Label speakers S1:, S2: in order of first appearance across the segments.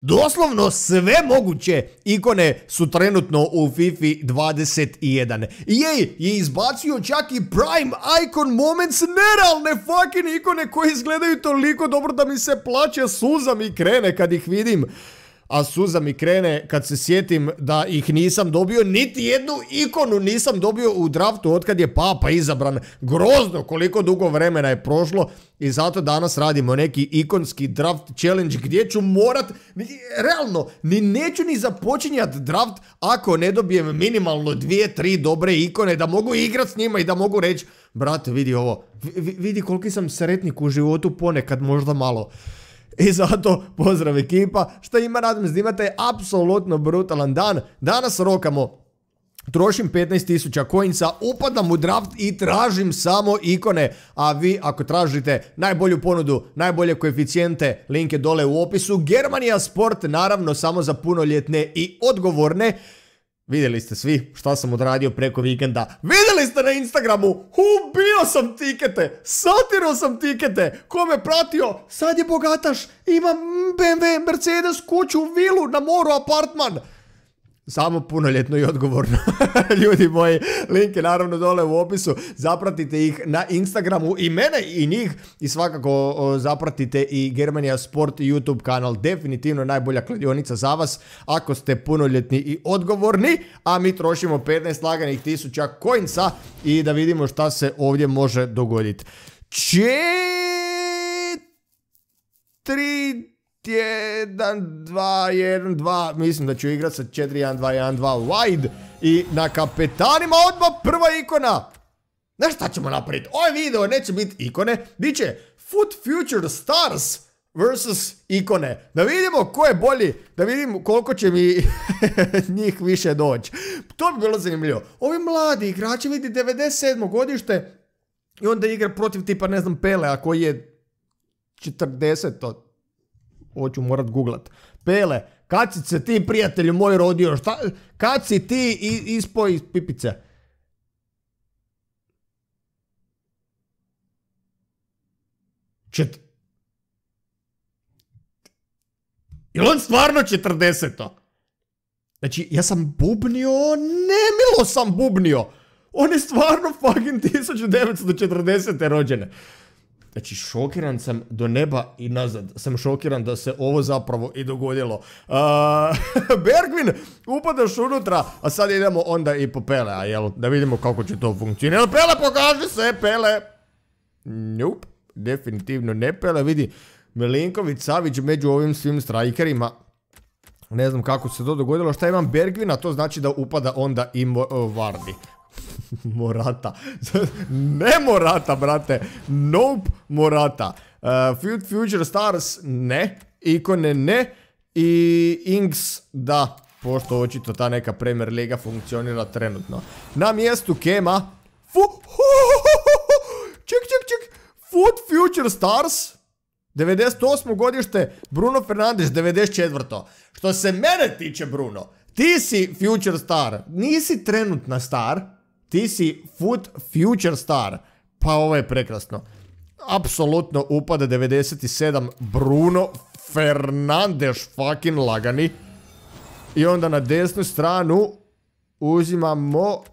S1: Doslovno sve moguće ikone su trenutno u FIFA 21. EA je izbacio čak i Prime Icon Moments, nerealne fucking ikone koje izgledaju toliko dobro da mi se plaće, suza mi krene kad ih vidim. A suza mi krene kad se sjetim da ih nisam dobio, niti jednu ikonu nisam dobio u draftu otkad je Papa izabran. Grozno koliko dugo vremena je prošlo i zato danas radimo neki ikonski draft challenge gdje ću morat, realno, neću ni započinjat draft ako ne dobijem minimalno 2-3 dobre ikone da mogu igrat s njima i da mogu reći, brate, vidi ovo, vidi koliki sam sretnik u životu ponekad, možda malo. I zato, pozdrav ekipa, šta ima, radim da imate apsolutno brutalan dan. Danas rokamo, trošim 15.000 coinsa, upadam u draft i tražim samo ikone. A vi ako tražite najbolju ponudu, najbolje koeficijente, link je dole u opisu. Germania Sport, naravno samo za punoljetne i odgovorne. Vidjeli ste svi šta sam odradio preko vikenda. Vidjeli ste na Instagramu, ubio sam tikete, satirao sam tikete. Ko me pratio, sad je bogataš, ima BMW, Mercedes, kuću, vilu, na moru, apartman. Samo punoljetno i odgovorno. Ljudi moji, link je naravno dole u opisu. Zapratite ih na Instagramu i mene i njih. I svakako zapratite i Germania Sport YouTube kanal. Definitivno najbolja kladionica za vas ako ste punoljetni i odgovorni. A mi trošimo 15 laganih tisuća coinsa i da vidimo šta se ovdje može dogoditi. 1, 2, 1, 2, mislim da ću igrat sa 4, 1, 2, 1, 2 wide. I na kapetanima odmah prva ikona. Znaš šta ćemo napraviti? Ovaj video neće biti ikone, bit će Foot Future Stars versus ikone. Da vidimo ko je bolji, da vidimo koliko će mi njih više doći. To bi bilo zanimljivo. Ovi mladi igrači, vidi 97. godište i onda igra protiv tipa, ne znam, Pelea koji je 40. Hoću morat googlat. Pele, kad si se ti, prijatelju moj, rodio? Kad si ti ispao iz pipice? Jel on stvarno 40? Znači, ja sam bubnio, nemilo sam bubnio. On je stvarno fucking 1940. rođene. Znači, šokiran sam do neba i nazad. Sam šokiran da se ovo zapravo i dogodilo. Bergvin, upadaš unutra, a sad idemo onda i po Pelea, jel? Da vidimo kako će to funkcionirati. Pele, pokaži se, Pele! Nope, definitivno ne Pele. Vidi, Milinković, Savić među ovim svim strajkerima. Ne znam kako se to dogodilo. Šta imam Bergvina, to znači da upada onda i Vardy. Morata. Ne Morata, brate. Nope, Morata. Future Stars, ne. Ikone, ne. I Inks, da. Pošto očito ta neka Premier Liga funkcionira trenutno. Na mjestu Kema. Ček. Foot Future Stars. 98. godište. Bruno Fernandes, 94. Što se mene tiče, Bruno, ti si Future Star. Nisi trenutna star. Ti si Foot Future Star. Pa ovo je prekrasno. Apsolutno upada 97. Bruno Fernandes fucking lagani. I onda na desnu stranu uzimamo...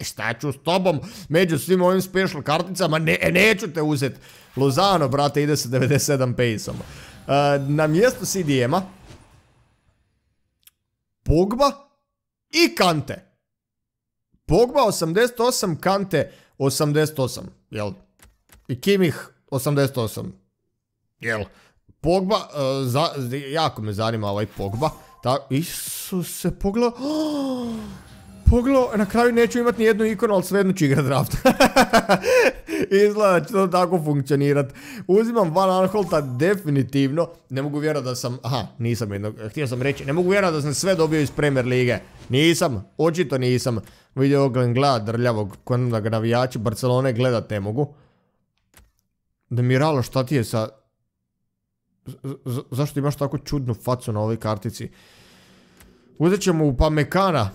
S1: šta ću s tobom među svim ovim special karticama? Neću te uzeti. Lozano, brate, ide sa 97 pace-om. Na mjestu CDM-a Pogba i Kante. Pogba 88, Kante 88, jel? I Kimmich 88, jel? Pogba, jako me zanima ovaj Pogba. Isuse, pogledao, na kraju neću imati ni jednu ikonu, ali svejedno ću igrat draft. Izgleda će to tako funkcionirat. Uzimam Van Aanholta definitivno. Ne mogu vjerati da sam... Aha, nisam jedno... Htio sam reći, ne mogu vjerati da sam sve dobio iz Premier Lige. Nisam, očito nisam. Vidio Oglen gleda drljavog, da ga navijači Barcelone gledat ne mogu. Demiralo, šta ti je sa... Zašto imaš tako čudnu facu na ovoj kartici? Uzet ćemo Upamecana.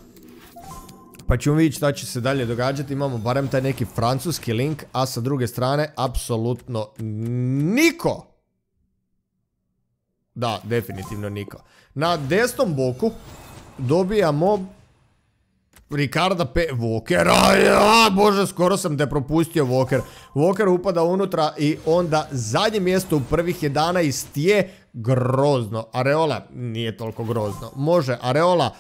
S1: Pa ćemo vidjeti šta će se dalje događati. Imamo barem taj neki francuski link. A sa druge strane, apsolutno niko Da, definitivno niko. Na desnom boku dobijamo Ricarda P. Walkera. Ja, bože, skoro sam te propustio Walker. Walker upada unutra i onda zadnje mjesto u prvih 11 je grozno. Areola nije toliko grozno. Može, Areola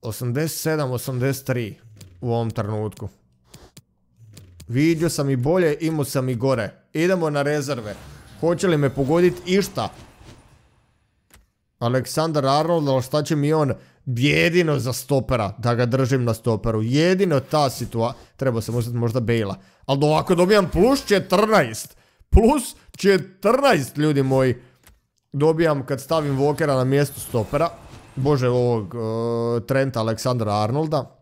S1: 87-83 u ovom trenutku. Vidio sam i bolje, imao sam i gore. Idemo na rezerve. Hoće li me pogoditi išta? Aleksandar Arnold, ali šta će mi on? Jedino za stopera, da ga držim na stoperu. Jedino ta situacija. Treba sam uzeti možda Bale-a. Ali ovako dobijam plus 14. Plus 14, ljudi moji. Dobijam kad stavim Walkera na mjesto stopera. Bože, ovog Trenta Aleksandra Arnolda.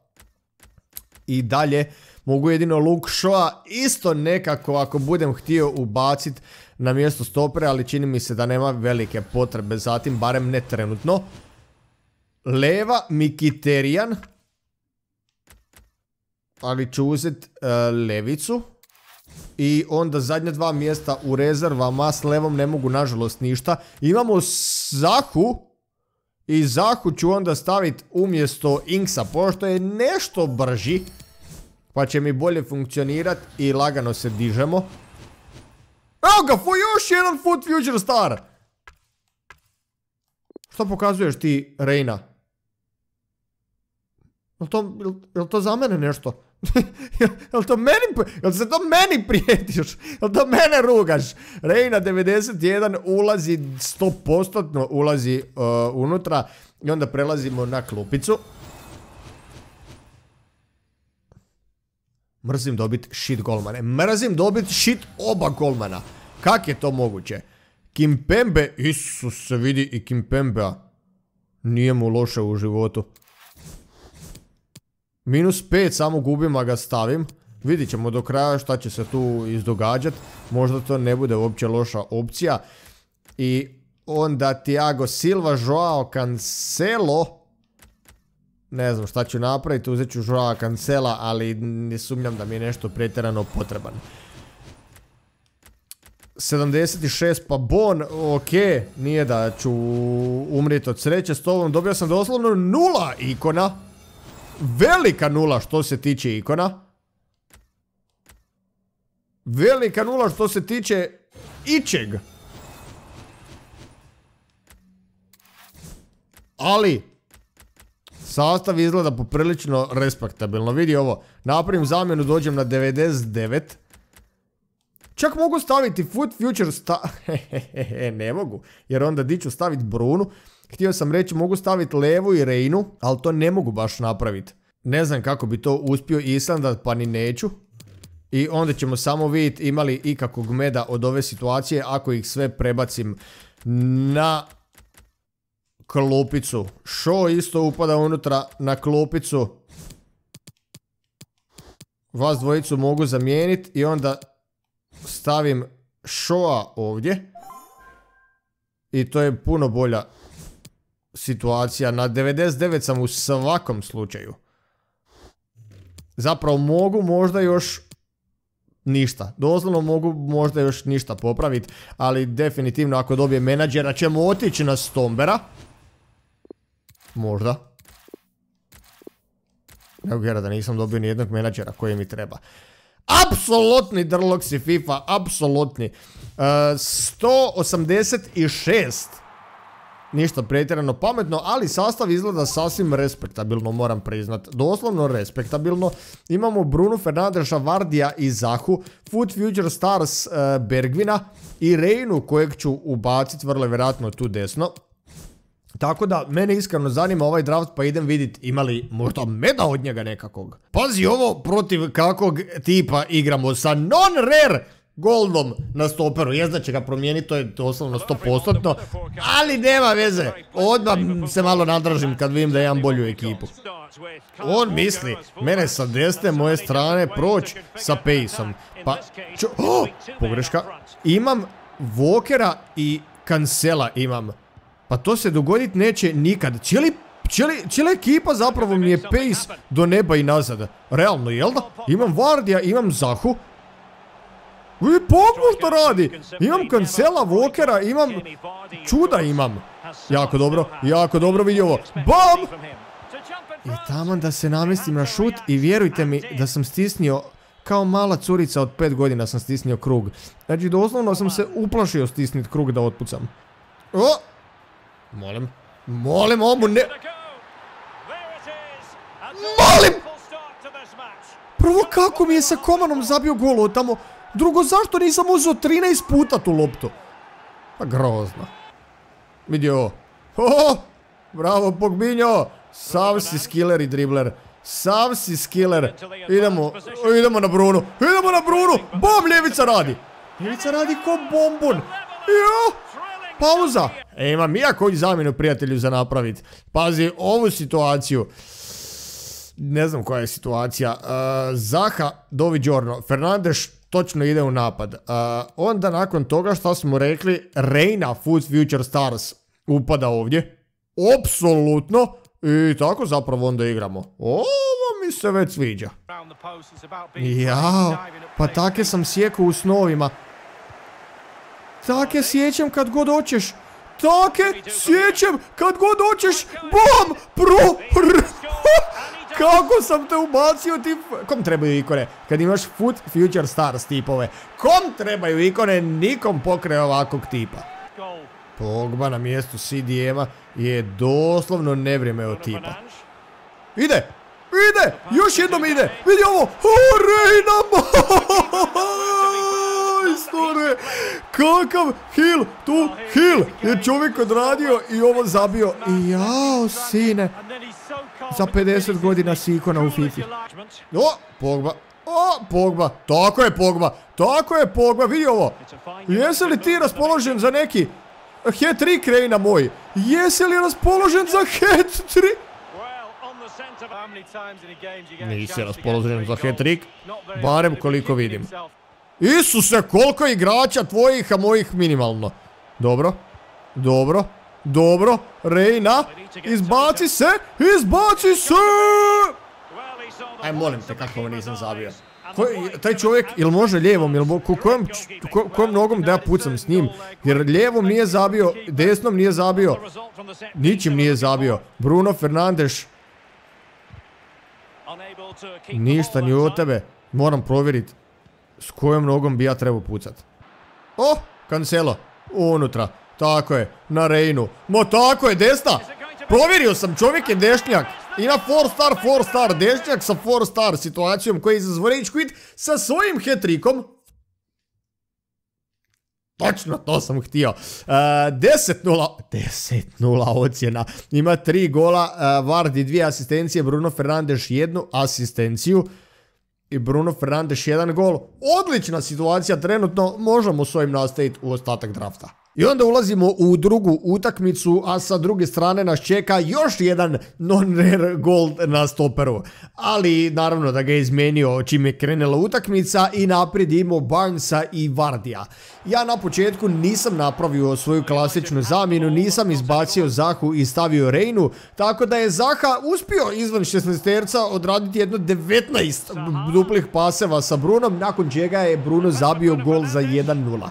S1: I dalje mogu jedino Luke Shaw isto nekako ako budem htio ubaciti na mjesto stopera, ali čini mi se da nema velike potrebe zatim, barem ne trenutno. Leva Mkhitaryan, ali ću uzeti levicu. I onda zadnja dva mjesta u rezervama, s levom ne mogu nažalost ništa. Imamo Zahu. I Zahu ću onda staviti umjesto Inksa, pošto je nešto brži. Pa će mi bolje funkcionirati i lagano se dižemo. Evo ga, još jedan Foot Future Star. Što pokazuješ ti, Reina? Jel to za mene nešto? Jel se to meni prijetiš? Jel to mene rugaš? Reina 91 ulazi 100% ulazi unutra. I onda prelazimo na klupicu. Mrzim dobiti shit golmane. Mrzim dobiti shit oba golmana. Kak je to moguće? Kimpembe, Isus se vidi i Kimpembea. Nije mu loše u životu. -5 samo gubim, a ga stavim. Vidit ćemo do kraja šta će se tu izdogađati. Možda to ne bude uopće loša opcija. I onda Thiago Silva, Joao Cancelo. Ne znam šta ću napraviti, uzet ću Joao Cancela, ali ne sumnjam da mi je nešto pretjerano potreban. 76 pa Bon, ok, nije da ću umrijeti od sreće s tobom, dobio sam doslovno 0 ikona. Velika 0 što se tiče ikona. Velika 0 što se tiče ičeg. Ali sastav izgleda poprilično respektabilno. Vidi ovo, napravim zamjenu, dođem na 99. Čak mogu staviti Foot Future Star. Ne mogu, jer onda di ću staviti Brunu. Htio sam reći mogu staviti Levu i Reinu, ali to ne mogu baš napraviti. Ne znam kako bi to uspio Islanda, pa ni neću. I onda ćemo samo vidjeti imali ikakvog meda od ove situacije ako ih sve prebacim na klupicu. Shaw isto upada unutra na klupicu. Vas dvojicu mogu zamijeniti i onda stavim Shawa ovdje. I to je puno bolja situacija. Na 99 sam u svakom slučaju. Zapravo mogu možda još ništa. Doslovno mogu možda još ništa popraviti. Ali definitivno ako dobijem menadžera ćemo otići na Stombera. Možda. Evo gledaj da nisam dobio nijednog menadžera koji mi treba. Apsolutni drloksi FIFA, apsolutni. 186. Ništa pretjerano pametno, ali sastav izgleda sasvim respektabilno, moram priznat. Doslovno respektabilno. Imamo Bruno Fernandesa, Vardija i Zahu, Foot Future Stars Bergvina i Reinu kojeg ću ubaciti vrlo vjerojatno tu desno. Tako da, mene iskreno zanima ovaj draft, pa idem vidjeti ima li možda meda od njega nekakvog. Pazi ovo, protiv kakvog tipa igramo sa non-rare goldom na stoperu. Jest da će ga promijeniti, to je doslovno 100%, ali nema veze. Odmah se malo nadražim kad vidim da imam bolju ekipu. On misli mene sa desne moje strane proći sa Paceom. Pa, pogreška. Imam Walkera i Cancela imam. Pa to se dogoditi neće nikad. Cijela ekipa zapravo mi je pace do neba i nazad. Realno, jel da? Imam Vardija, imam Zahu. Vidi Pogba što radi. Imam Cancela, Walkera, imam... Čuda imam. Jako dobro vidi ovo. Bam! I taman da se namestim na šut i vjerujte mi da sam stisnio, kao mala curica od 5 godina sam stisnio krug. Znači doslovno sam se uplašio stisniti krug da otpucam. O! Molim, omu ne... Molim! Prvo kako mi je sa Komanom zabio gol od tamo. Drugo zašto nisam uzeo 13 puta tu loptu. Pa grozno. Vidi ovo. Oh, bravo Pogbinjo. Sav si skiller i dribler. Sav si skiller. Idemo na Brunu. Bom, ljevica radi. Ljevica radi ko bombon. Jo. Pauza. Imam ja koju zamjenu prijatelju za napraviti. Pazi ovu situaciju. Ne znam koja je situacija. Zaha, doviđorno. Fernandes točno ide u napad. Onda nakon toga što smo rekli, Reina, Food Future Stars upada ovdje. Apsolutno. I tako zapravo onda igramo. Ovo mi se već sviđa. Jao, pa take sam sjekao u snovima. Take sjećam kad god hoćeš. Bom! Kako sam te ubacio ti... Kom trebaju ikone? Kad imaš Food Future Stars tipove. Kom trebaju ikone? Nikom pokraj ovakvog tipa. Pogba na mjestu CDM-a je doslovno nevrijeme od tipa. Ide! Još jednom ide! Vidi ovo! Reina majstore! Kakav heal tu heal! Je čovjek odradio i ovo zabio. I jao, sine! Za 50 godina si ikona u FIFA. Pogba. Tako je Pogba. Vidi ovo. Jesi li ti raspoložen za neki hat-trick, Reina moj? Jesi li raspoložen za hat-trick? Nisi raspoložen za hat-trick. Barem koliko vidim. Isuse, koliko igrača tvojih, a mojih minimalno. Dobro. Reina. Izbaci se. Aj, molim te, kako ovo nisam zabio. Taj čovjek, ili može lijevom, ili kojom nogom da ja pucam s njim. Jer lijevom nije zabio, desnom nije zabio. Ničim nije zabio. Bruno Fernandes. Ništa ni od tebe. Moram provjeriti s kojom nogom bi ja trebao pucat. Cancelo. Unutra. Tako je. Na Reinu. Tako je, desna. Provjerio sam, čovjek je dešnjak. Ima 4 star, dešnjak sa 4 star situacijom koji je izazvao rage quit sa svojim hat-trickom. Točno, to sam htio. 10-0 ocjena. Ima 3 gola, Vardy 2 asistencije, Bruno Fernandes 1 asistenciju. I Bruno Fernandes 1 gol. Odlična situacija trenutno, možemo s ovim nastaviti u ostatak drafta. I onda ulazimo u drugu utakmicu, a sa druge strane nas čeka još jedan non-rare gol na stoperu. Ali naravno da ga je izmenio čim je krenula utakmica i naprijed imao Barnesa i Vardija. Ja na početku nisam napravio svoju klasičnu zamjenu, nisam izbacio Zahu i stavio Reinu, tako da je Zaha uspio izvan 16-terca odraditi jedno 19 duplih paseva sa Brunom, nakon čega je Bruno zabio gol za 1-0.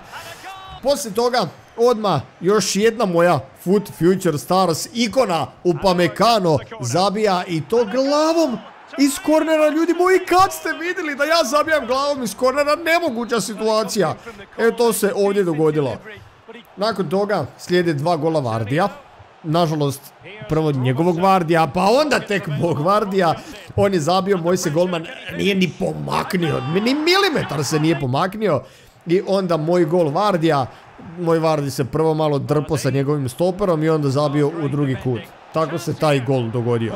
S1: Poslije toga, odmah, još jedna moja Food Future Stars ikona Upamecano zabija i to glavom iz kornera. Ljudi moji, kad ste vidjeli da ja zabijam glavom iz kornera? Nemoguća situacija. To se ovdje dogodilo. Nakon toga slijede 2 gola Vardija. Nažalost, prvo njegovog Vardija, pa onda tek mog Vardija. On je zabio, moj se golman nije ni pomaknio, ni milimetar se nije pomaknio. I onda moj gol Vardija. Moj Vardi se prvo malo drpo sa njegovim stoperom i onda zabio u drugi kut. Tako se taj gol dogodio.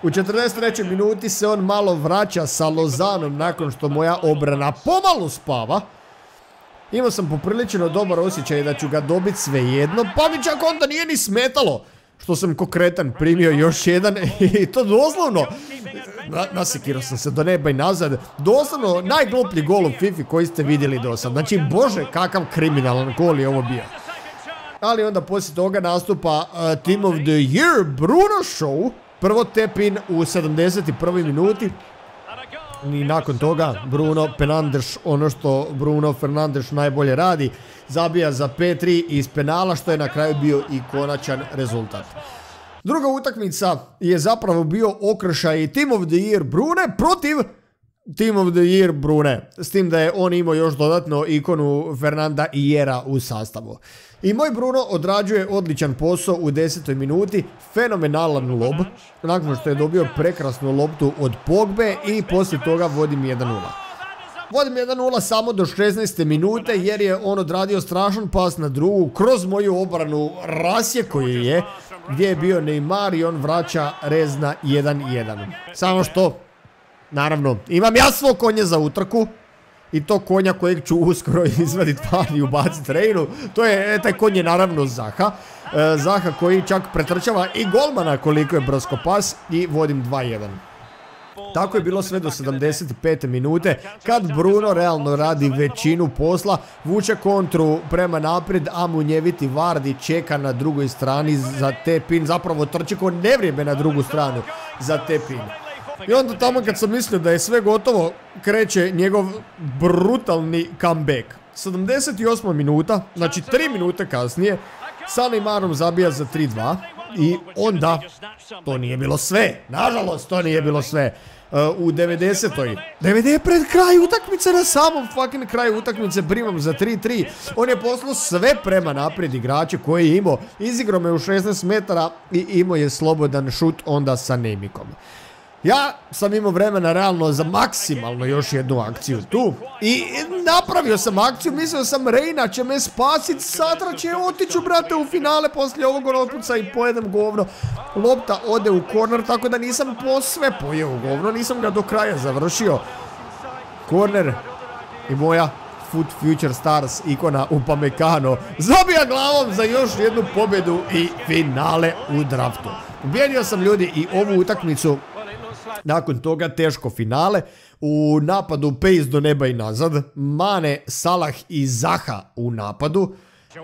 S1: U 43. minuti se on malo vraća sa Lozanom nakon što moja obrana pomalo spava. Imao sam poprilično dobar osjećaj da ću ga dobiti svejedno, pa mi čak onda nije ni smetalo što sam ko kretan primio još jedan i to doslovno. Nasekirao sam se do neba i nazad. Doslovno najgluplji gol u FIFA koji ste vidjeli do sad. Znači, bože, kakav kriminalan gol je ovo bio. Ali onda poslije toga nastupa Team of the Year Bruno Show. Prvo tap in u 71. minuti. I nakon toga Bruno Fernandes, ono što Bruno Fernandes najbolje radi, zabija za 5-3 iz penala, što je na kraju bio i konačan rezultat. Druga utakmica je zapravo bio okršaj Team of the Year Brune protiv Team of the Year Brune, s tim da je on imao još dodatno ikonu Fernanda Hierra u sastavu. I moj Bruno odrađuje odličan posao u 10. minuti, fenomenalan lob, nakon što je dobio prekrasnu loptu od Pogbe i poslije toga vodim 1-0. Vodim 1-0 samo do 16. minute jer je on odradio strašan pas na drugu kroz moju obranu, rasjeko je, gdje je bio Neymar i on vraća rez na 1-1. Samo što, naravno, imam ja svog konja za utrku. I to konja kojeg ću uskoro izvaditi van i ubaciti Reinu. Taj konj je naravno Zaha. Zaha koji čak pretrčava i golmana koliko je brzo pas i vodim 2-1. Tako je bilo sve do 75. minute kad Bruno realno radi većinu posla, vuče kontru prema naprijed, a munjeviti Vardy čeka na drugoj strani za tap-in, zapravo trči ko nevrijeme na drugu stranu za tap-in. I onda tamo kad sam mislio da je sve gotovo, kreće njegov brutalni comeback. 78. minuta, znači 3 minute kasnije, sa Neymarom zabija za 3-2 i onda to nije bilo sve. Nažalost, to nije bilo sve. U 90. Pred kraj utakmice, na samom fucking kraju utakmice primam za 3-3. On je poslao sve prema naprijed igrače koje je imao. Izigrao me u 16 metara i imao je slobodan šut onda sa Nemikom. Ja sam imao vremena realno za maksimalno još jednu akciju tu i napravio sam akciju, mislio sam Reina će me spasit, Satra će otiću brate u finale poslije ovog otpuca i pojedem govno. Lopta ode u korner, tako da nisam sve pojeo govno, nisam ga do kraja završio. Korner i moja Foot Future Stars ikona Upamecano zabija glavom za još jednu pobjedu i finale u draftu. Pobijedio sam ljudi i ovu utakmicu. Nakon toga teško finale, u napadu pace do neba i nazad, Mane, Salah i Zaha u napadu.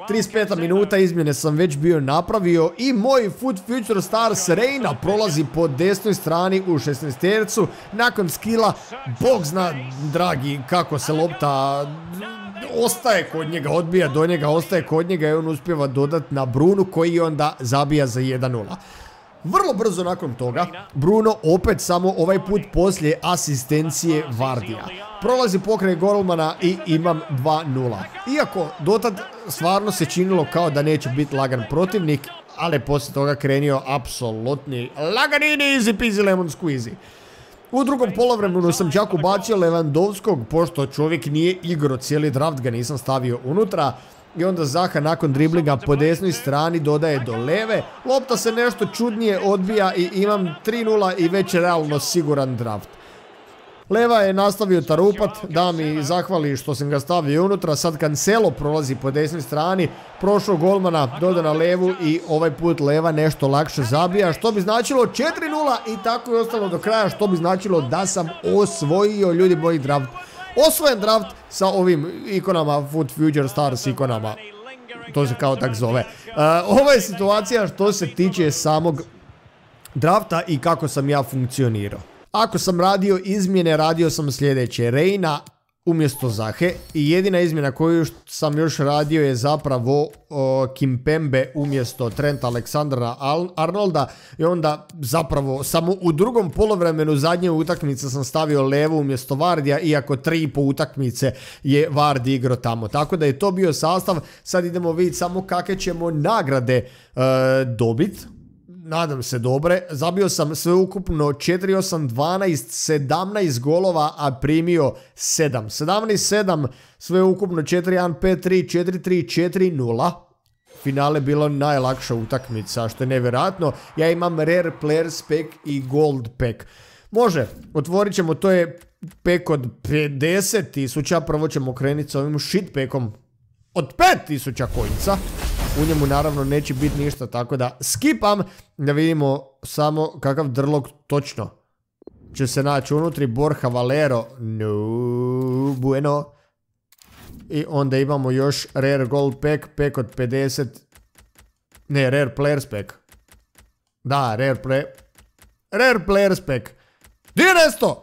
S1: 35. minuta, izmjene sam već bio napravio i moj Foot Future Stars Reina prolazi po desnoj strani u 16-tercu. Nakon skilla, bog zna dragi kako se lopta ostaje kod njega, odbija do njega, ostaje kod njega i on uspijeva dodati na Brunu koji onda zabija za 1-0. Vrlo brzo nakon toga, Bruno opet samo ovaj put poslije asistencije Vardija. Prolazi pokraj golmana i imam 2-0. Iako dotad stvarno se činilo kao da neće biti lagan protivnik, ali poslije toga krenio apsolutni laganini easy peasy lemon squeezy. U drugom polovremenu sam čak ubacio Lewandowskog, pošto čovjek nije igrao cijeli draft, ga nisam stavio unutra. I onda Zaha nakon driblinga po desnoj strani dodaje do leve. Lopta se nešto čudnije odbija i imam 3-0 i već realno siguran draft. Leva je nastavio tarupat, da mi zahvali što sam ga stavio unutra. Sad Cancelo prolazi po desnoj strani, prošao golmana, doda na levu i ovaj put Leva nešto lakše zabija, što bi značilo 4-0 i tako je ostalo do kraja, što bi značilo da sam osvojio ljudi moj draft. Osvojen draft sa ovim ikonama, Foot Future Stars ikonama, to se kao tak zove. Ova je situacija što se tiče samog drafta i kako sam ja funkcionirao. Ako sam radio izmjene, radio sam sljedeće: Reina umjesto Zahe i jedina izmjena koju sam još radio je zapravo Kimpembe umjesto Trenta Alexandera-Arnolda i onda zapravo samo u drugom polovremenu zadnje utakmice sam stavio Levu umjesto Vardija, iako 3,5 utakmice je Vardy igrao tamo. Tako da je to bio sastav. Sad idemo vidjeti samo kakve ćemo nagrade dobiti. Nadam se dobre. Zabio sam sveukupno 4-8-12, 17 golova, a primio 7. 17-7, sveukupno 4-1-5-3, 4-3, 4-0. Finale bilo najlakša utakmica, što je nevjerojatno. Ja imam Rare Players Pack i Gold Pack. Može, otvorit ćemo, to je pack od 50.000, prvo ćemo krenuti s ovim shit packom od 5.000 kojnica. U njemu naravno neće biti ništa, tako da skipam da vidimo samo kakav drlog točno će se naći unutri. Borja Valero, no bueno. I onda imamo još Rare Gold Pack, pack od 50. Ne, Rare Players Pack. Da, Rare Players Pack. Di je nesto?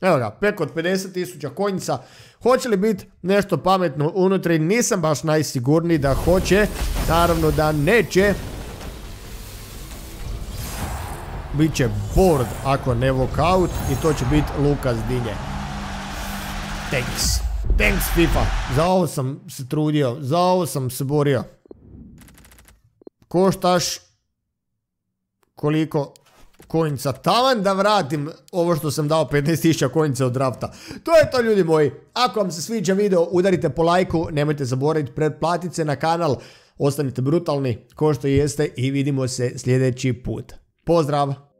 S1: Evo ga, preko od 50.000 konjica. Hoće li biti nešto pametno unutri? Nisam baš najsigurniji da hoće. Naravno da neće. Biće board ako ne walkout i to će biti Lukas Dinje. Thanks FIFA. Za ovo sam se trudio. Za ovo sam se borio. Koštaš koliko konjica? Taman da vratim ovo što sam dao 15.000 konjica od drafta. To je to, ljudi moji. Ako vam se sviđa video, udarite po lajku. Nemojte zaboraviti pretplatiti se na kanal. Ostanite brutalni ko što jeste i vidimo se sljedeći put. Pozdrav!